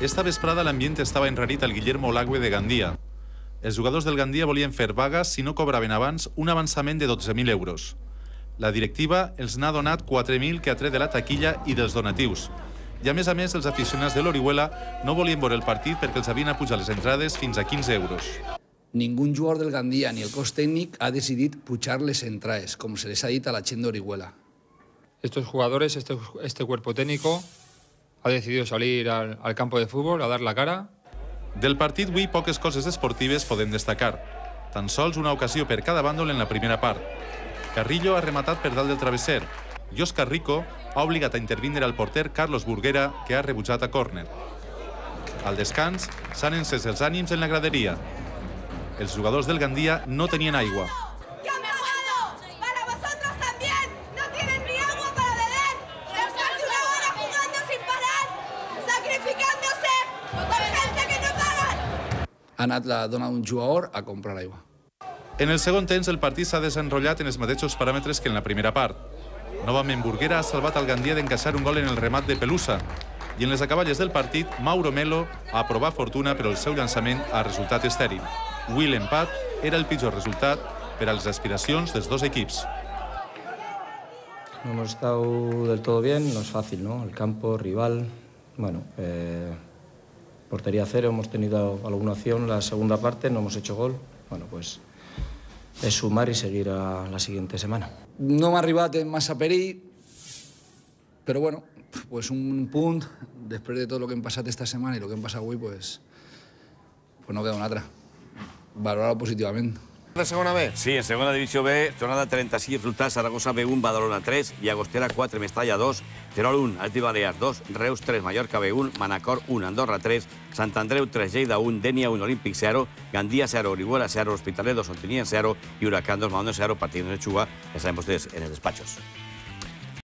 Esta vesprada l'ambient estava enrarit al Guillermo Lagüe de Gandia. Els jugadors del Gandia volien fer vaga si no cobraven abans un avançament de 12.000 euros. La directiva els n'ha donat 4.000 que ha tret de la taquilla i dels donatius. I a més, els aficionats de l'Orihuela no volien veure el partit perquè els havien apujat les entrades fins a 15 euros. Ningún jugador del Gandia ni el cos técnic ha decidit pujar les entrades, com se les ha dit a la gent d'Orihuela. Estos jugadores, este cuerpo técnico, ha decidido salir al campo de fútbol a dar la cara. Del partit avui poques coses esportives podem destacar. Tan sols una ocasió per cada bàndol en la primera part. Carrillo ha rematat per dalt del travesser i Òscar Rico ha obligat a intervindre el porter Carlos Burguera, que ha rebutjat a córner. Al descans s'han encès els ànims en la graderia. Els jugadors del Gandia no tenien aigua. Ha anat la dona d'un jugador a comprar aigua. En el segon temps, el partit s'ha desenrotllat en els mateixos paràmetres que en la primera part. Novament, Burguera ha salvat al Gandia d'encaixar un gol en el remat de Pelusa. I en les acaballes del partit, Mauro Melo ha provat fortuna, però el seu llançament ha resultat estèril. Avui l'empat era el pitjor resultat per a les aspiracions dels dos equips. No hemos estado del todo bien, no es fácil, ¿no? El campo, rival, bueno, portería cero, hemos tenido alguna opción la segunda parte, no hemos hecho gol. Bueno, pues es sumar y seguir a la siguiente semana. No m'ha arribat en massa perill, però bueno, pues un punt, després de tot el que hem passat esta setmana i el que hem passat avui, pues no queda una altra. Valorar-ho positivament. ¿De segona B? Sí, en segona divisió B, jornada 36, resultats: Saragossa B1, Badalona 3, Llagostera 4, Mestalla 2, Terol 1, Atleti Balears 2, Reus 3, Mallorca B1, Manacor 1, Andorra 3, Sant Andreu 3, Lleida 1, Denia 1, Olímpic 0, Gandia 0, Orihuela 0, Hospitalet 2, Ontinyent 0 y Huracán 2, Madona 0, partido de Chuga, ya saben ustedes, en el despachos.